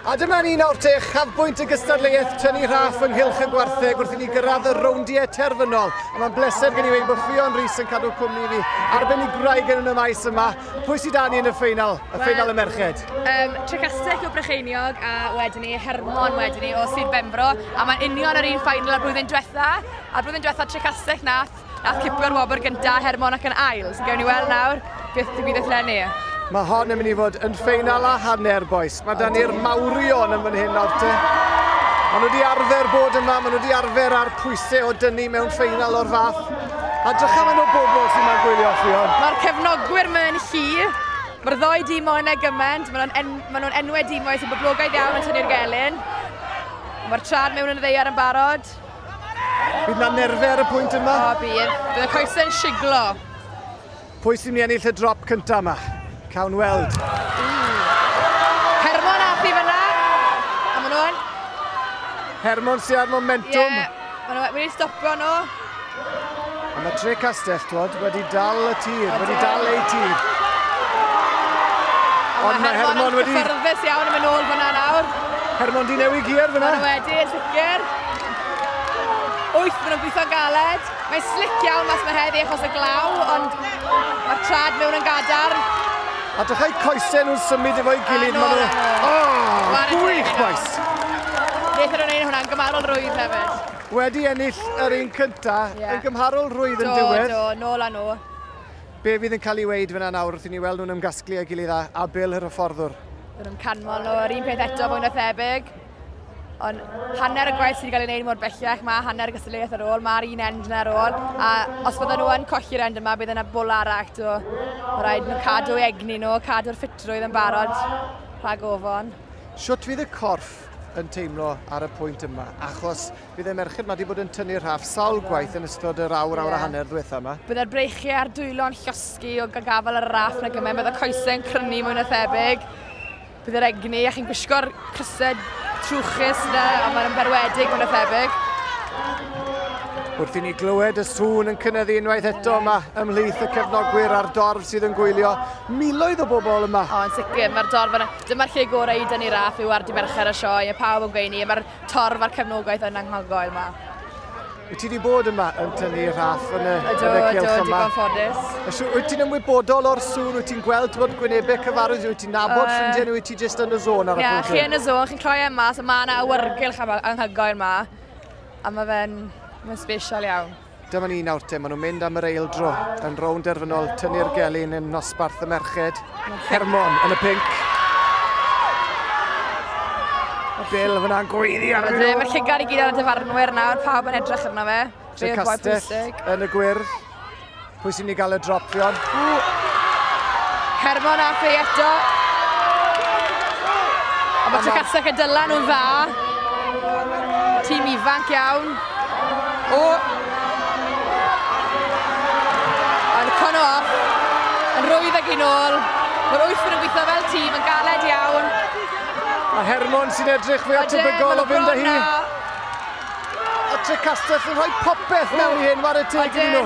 A dyma ni nawr te, chafbwynt y gystadleuaeth tynnu rhaff ynghylch y gwartheg wrth i ni gyrraedd y rowndiau terfynol. A mae'n bleser gen i weud bod Ffion Rees yn cadw cwmni fi, arbenigwraig yn y maes yma. Pwy sydd 'da ni yn y ffeinal, y ffeinal y merched? Trecastell o Brycheiniog a wedyn ni Hermon wedyn ni o Sir Benfro. A mae'n union yr un ffeinal â'r blwyddyn diwetha. A'r blwyddyn diwetha Trecastell nath, nath cipio'r wobr gynta, Hermon ac yn ail. So gewn ni weld nawr beth ddigwyddodd eleni. Mae hon yn mynd i fod yn ffeinal a hanner, bois. Mae 'da ni'r mawrion yn fan hyn nawr te. Maen nhw wedi arfer bod yma, maen nhw wedi arfer ar pwysau o dynnu mewn ffeinal o'r fath. A drycha maen nhw bobl sy'n ma'n gwylio, Ffion. Mae'r cefnogwyr mewn llu. Mae'r ddoi dîm o'n e gymaint. Maen nhw'n ma nhw enwau dîmoedd sy'n boblogaidd iawn yn tynnu'r gelyn. Mae'r trad mewn yn y ddaear yn barod. Bydd na nerfau ar y pwynt yma? O, bydd. Bydd y coesau'n siglo. Pwy sy'n mynd i ennill y drop cyntaf yma? Cawn weld. Hermon ath i fyna. A maen nhw'n... Hermon sydd ar momentum. Ie, yeah, maen nhw wedi stopio nhw. A mae Trecastell, twod, wedi dal y tir, wedi dal ei tir. Ond mae Hermon wedi cyffyrddus iawn yn mynd nôl fyna nawr. Hermon di newid gier fyna. Maen nhw wedi, yn sicr. Wyth, maen nhw'n gweithio'n galed. Mae'n slick iawn mas mae heddi achos y glaw, ond mae'r trad mewn yn gadarn. A dechrau coesau nhw'n symud efo'i gilydd. Maen nhw... Oh, gwych, bois! Wnaethon nhw'n neud hwnna'n gymharol rwydd hefyd. Wedi ennill yr un cynta, yn gymharol rwydd yn diwedd. Do, nôl â nhw. Be fydd yn cael ei weid fyna nawr wrth i ni weld nhw'n ymgasglu â'i gilydd a Bill yr hyfforddwr? Bydden nhw'n canmol nhw, yr un peth eto fwy na thebyg. Ond hanner y gwaith sydd wedi cael ei wneud mor bellach, mae hanner y gystadleuaeth ar ôl, mae'r un end yna ar ôl. A os fydden nhw yn colli'r end yma, bydd yna bwl arall. So, mae rhaid nhw cadw egni nhw, cadw'r ffitrwydd yn barod rhag ofon. Shwt fydd y corff yn teimlo ar y pwynt yma? Achos bydd y merched yma wedi bod yn tynnu'r rhaff sawl gwaith yn ystod yr awr, awr a hanner ddiwetha yma. Byddai'r breichiau a'r dwylo'n llosgi o gafael ar y raff na gymaint, byddai'r coesau'n crynu mwy na thebyg. Bydd yr egni, a chi'n gwisgo'r crysau trwchus yna, a mae'n berwedig mwy na thebyg. Wrth i ni glywed y sŵn yn cynyddu unwaith eto yma ymhlith y cefnogwyr a'r dorf sydd yn gwylio, miloedd o bobl yma. O, yn sicr, mae'r dorf yna. Dyma'r lle gorau i dynnu raff yw ar Dydd Mercher y sioe, a pawb yn gweini, a mae'r torf a'r cefnogaeth yn anhygoel yma. Wyt ti wedi bod yma yn tynnu raff yn y, ydw, yn y cylch ydw, yma? Ydw, digon ffodus. Wyt ti'n ymwybodol o'r sŵn? Wyt ti'n gweld bod gwynebau cyfarwydd? Wyt ti'n nabod ffrindiau nhw? Wyt ti jyst yn y zone ar y Ie, pwynt? chi yn y zone, chi'n troi yma, so mae yna awyrgylch anhygoel yma. A mae fe'n ma special iawn. Dyma ni nawr te, maen nhw'n mynd am yr eildro yn rownd derfynol tynnu'r gelyn yn nosbarth y merched. Hermon yn y pinc. Bill fyna'n gweiddi ar nhw. Mae'r llygad i gyd ar y dyfarnwyr nawr, pawb yn edrych arno fe. Trecastell yn y gwyrdd. Pwy sy'n mynd i gael y drop, Ffion? Hermon a fe eto. A mae Trecastell yn dyla nhw'n dda. Tîm ifanc iawn. O! Ond cono off. Yn rwydd ag un ôl. Mae'r wyth yn gweithio fel tîm yn galed iawn. A Hermon sy'n edrych fwy atebygol o fynd â hi. A Trecastell yn rhoi popeth mewn i hyn, whare teg iddyn nhw.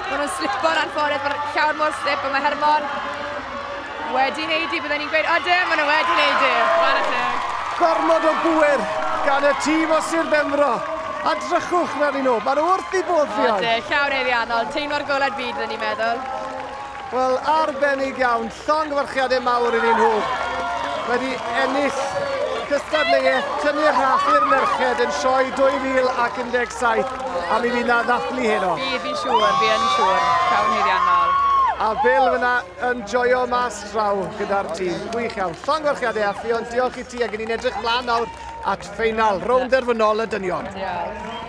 Maen nhw'n slipo'n anffodus, mae'r llawer mor slip, a mae Hermon wedi wneud i, byddwn ni'n gweud, odyn, maen nhw wedi wneud i. Whare teg. Gormod o bŵer gan y tîm o Sir Benfro. A drychwch mewn i nhw, maen nhw wrth i bodd, Ffion. Odyn, llawn haeddiannol, teimlo'r golau byd, byddwn ni'n meddwl. Wel, arbennig iawn, llongyfarchiadau mawr iddyn nhw. Wedi ennill cystadleuaeth tynnu'r rhaff i'r merched yn sioe 2017, a mi fydd na ddathlu heno. Fi, fi'n siŵr, fi yn siŵr, llawn haeddiannol. A Bill fyna yn joio mas draw gyda'r tîm. Gwych iawn. Llongyfarchiadau a Ffion, diolch i ti, ac ni'n edrych mlaen nawr at ffeinal, rownd derfynol y dynion. Diolch.